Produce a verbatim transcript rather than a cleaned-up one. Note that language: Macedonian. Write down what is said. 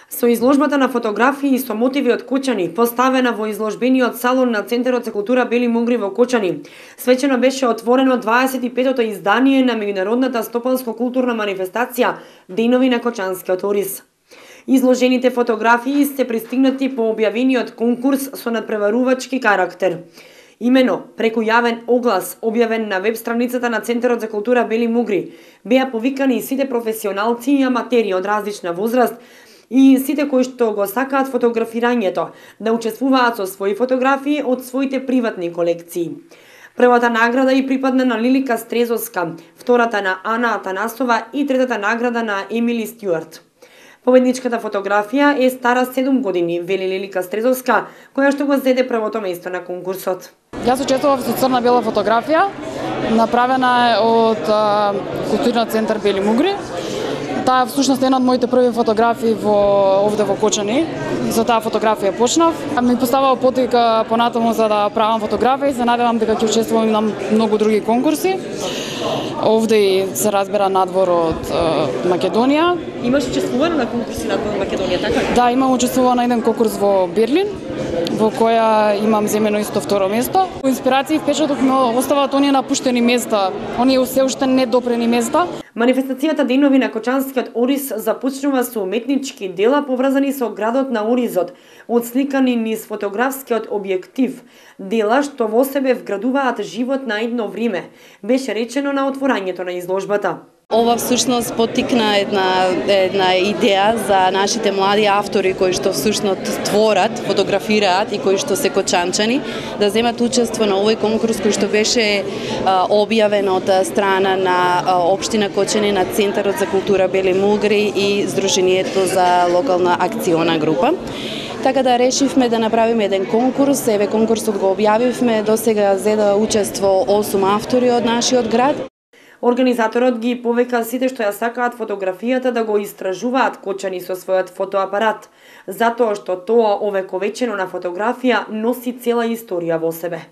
Со изложбата на фотографии со мотиви од Кочани, поставена во изложбениот салон на Центарот за култура Бели Мугри во Кочани, свечено беше отворено дваесет и петото издание на меѓународната стопанско-културна манифестација Денови на Кочанскиот ориз. Изложените фотографии се пристигнати по објавениот конкурс со надпреварувачки карактер. Имено, преку јавен оглас, објавен на веб страницата на Центарот за култура Бели Мугри, беа повикани сите професионалци и аматери од различна возраст и сите кои што го сакаат фотографирањето да учествуваат со своји фотографии од своите приватни колекции. Првата награда и припадна на Лилика Стрезовска, втората на Ана Атанасова и третата награда на Емили Стюарт. Победничката фотографија е стара седум години, вели Лилика Стрезовска, која што го зеде првото место на конкурсот. Јас учествував со црна-бела фотографија, направена е од а, Културниот центар Бели Мугри. Таа всушност е една од моите први фотографии во овде во Кочани. За таа фотографија почнав. Ми поставува потика понатаму за да правам фотографии, се надевам дека ќе учествувам на многу други конкурси. Овде и се разбира надвор од е, Македонија. Имаш учествувано на конкурси надвор од Македонија, така ли? Да, имам учествувано на еден конкурс во Берлин, во која имам земено исто второ место. Инспирација и впечаток ми оставаат оние напуштени места, оние се уште недопрени места. Манифестацијата Денови на Кочанскиот ориз започнува со уметнички дела поврзани со градот на оризот, отсликани низ фотографскиот објектив, дела што во себе вградуваат живот на едно време, беше речено на отворањето на изложбата. Ова всушност поттикна една една идеја за нашите млади автори кои што всушност творат, фотографираат и кои што се кочанчани да земат учество на овој конкурс кој што беше а, објавен од страна на а, општина Кочани, на Центарот за култура Бели Мугри и Сдруженијето за локална акциона група. Така да решивме да направиме еден конкурс, еве конкурсот го објавивме, досега зеда учество осум автори од нашиот град. Организаторот ги повика сите што ја сакаат фотографијата да го истражуваат Кочани со својот фотоапарат, затоа што тоа овековечено на фотографија носи цела историја во себе.